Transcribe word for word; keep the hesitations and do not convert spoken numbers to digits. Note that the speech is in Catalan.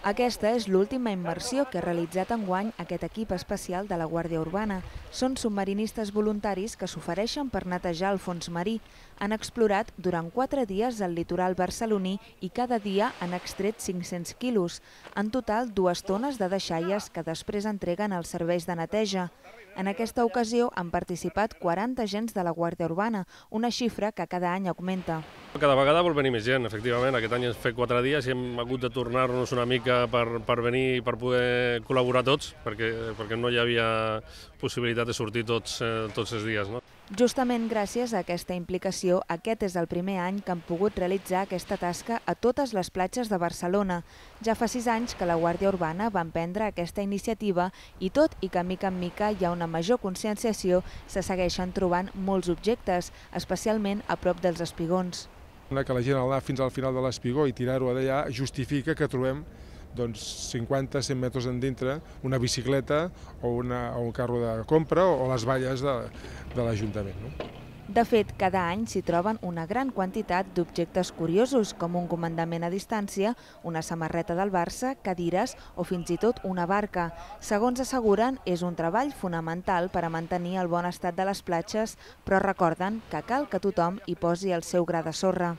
Aquesta és l'última immersió que ha realitzat enguany aquest equip especial de la Guàrdia Urbana. Són submarinistes voluntaris que s'ofereixen per netejar el fons marí. Han explorat durant quatre dies el litoral barceloní i cada dia han extret cinc-cents quilos. En total, dues tones de deixalles que després entreguen als serveis de neteja. En aquesta ocasió han participat quaranta agents de la Guàrdia Urbana, una xifra que cada any augmenta. Cada vegada vol venir més gent, efectivament. Aquest any hem fet quatre dies i hem hagut de tornar-nos una mica per, per venir i per poder col·laborar tots, perquè, perquè no hi havia possibilitat de sortir tots, eh, tots els dies. No? Justament gràcies a aquesta implicació, aquest és el primer any que han pogut realitzar aquesta tasca a totes les platges de Barcelona. Ja fa sis anys que la Guàrdia Urbana va emprendre aquesta iniciativa i tot i que mica en mica hi ha una major conscienciació, se segueixen trobant molts objectes, especialment a prop dels espigons. Que la gent anar fins al final de l'espigó i tirar-ho d'allà justifica que trobem doncs, cinquanta a cent metres endintre una bicicleta o, una, o un carro de compra o les valles de, de l'Ajuntament. No? De fet, cada any s'hi troben una gran quantitat d'objectes curiosos, com un comandament a distància, una samarreta del Barça, cadires o fins i tot una barca. Segons asseguren, és un treball fonamental per a mantenir el bon estat de les platges, però recorden que cal que tothom hi posi el seu gra de sorra.